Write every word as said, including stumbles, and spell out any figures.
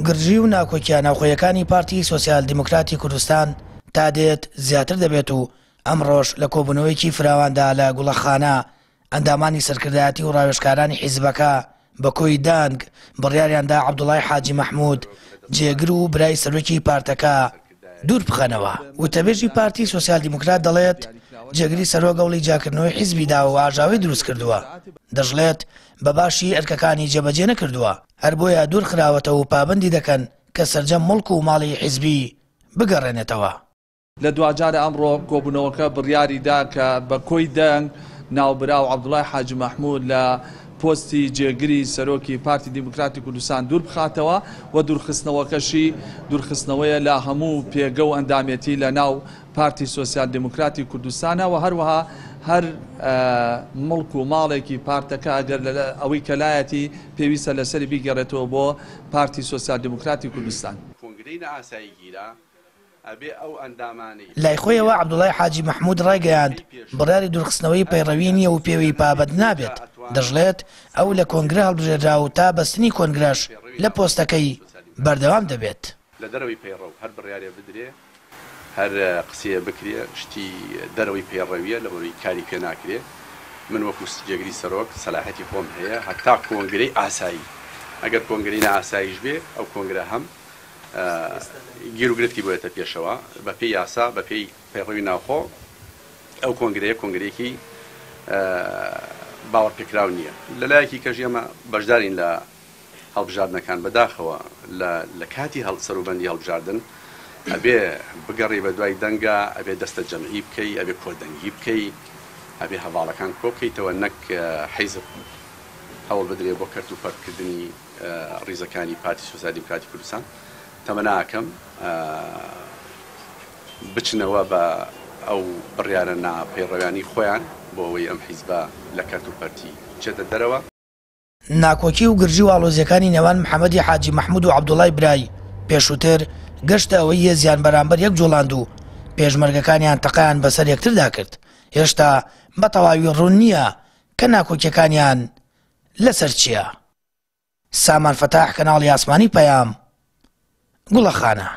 گرژی و ناکۆکییە ناوخۆیەکانی پارتی سۆسیال دیموکراتی کوردستان تا دێت زیاتر دەبێت و ئەمڕۆش لە کۆبوونەوەیەکی فراواندا لە گوڵەخانە ئەندامانی سەرکردایەتی و ڕاوێژکارانی حیزبەکە بە کۆی دەنگ بڕیاریاندا عەبدوڵای حاجی مەحمود جێگر و برای سەرۆکی پارتەکە دوور بخەنەوە. وتەبێژی پارتی سۆسیال دیموکرات دەڵێت جێگری سەرۆک هەوڵی جیاکردنەوەی حیزبی داوە و ئاژاوەی دروست کردووە، دەشڵێت بە باشی ئەرکەکانی جێبەجێ نەکردووە، هەر بۆیە دوور خراوەتەوە و پابەندی دەکەن کە سەرجەم مڵک و ماڵی حیزبی بگەڕێنێتەوە. لە دواجار ئەمڕۆ کۆبوونەوەکە بڕیاری دا کە بە کۆی دەنگ ناوبراو عەبدوڵای حاجی مەحمود لە پۆستی جێگری سەرۆکی پارتی دیموکراتی کوردستان دوور بخاتەوە و دوورخستنەوەکەشی دوورخستنەوەیە لە هەموو پێگە و ئەندامێتی لە ناو پارتی سۆسیال دیموکراتی کوردستانە و هەروەها هەر مڵک و ماڵێکی پارتەکە ئەگەر ئەوەی کەلایەتی پێویستە لەسەری بیگەڕێتەوە بۆ پارتی سۆسیال دیموکراتی کوردستان. لای خۆیەوە عەبدوڵای حاجی مەحمود ڕایگەیاند بڕیاری دوورخستنەوەی پەیڕەوی نییە و پێوەی پابەند نابێت، دەشڵێت ئەو لە کۆنگرە هەڵبژێردرا و تا بەستنی کۆنگرەش لە پۆستەکەی بەردەوام دەبێت. لە دەرەوەی پەیڕەو هەر بڕیارێ بدرێ، هەر قسەیە بکرێ، شتی دەرەوەی پەیڕەویە لەبەرەوەی کاری پێ ناکرێ. من وەکو جێگری سەرۆک سەلاحەتی خۆم هەیە هەتا کۆنگرەی ئاسایی، ئەگەر کۆنگرەی نائاساییش بێ ئەو کۆنگرە هەم گیروگرفتی بۆیەتە پێشەوە بەپێی یاسا بەپێی پەیڕەوی ناوخۆ ئەو کۆنگرەیە کۆنگرەیەکی باوەڕپێکراو نییە. لەلایەکی کەش ئێمە بەشدارین لە هەڵبژاردنەکان، بەداخەوە لە کاتی سەروبەندی هەڵبژاردن ئەبێ بگەڕی بە دوای دەنگە، ئەبێ دەستە جەمعی بکەی، ئەبێ کۆدەنگی بکەی، ئەبێ هەواڵەکان کۆ بکەیتەوە، نەک حیزب هەوڵ بدرێ بۆ کەرت و پەرتکردنی ڕیزەکانی پارتی سۆسیال دیموکراتی کوردستان. تەمەناکەم بچنەوە بە ئەو بڕیارە ناپەیڕەویانی خۆیان بۆ ئەوەی ئەم حیزبە لە کەرت و پەرتی بچێتە دەرەوە. ناکۆکی و گرژی و ئاڵۆزیەکانی نێوان محەممەدی حاجی مەحمود و عەبدوڵای برای پێشووتر گەشتە ئەوەی هێزیان بەرامبەر یەک جوڵاند و پێشمەرگەکانیان تەقەیان بەسەر یەکتردا کرد. هێشتا بە تەواوی ڕوون نییە کە ناکۆکیەکانیان لەسەر چییە. سامان فەتاح، کەناڵی ئاسمانی پەیام، گوڵەخانە.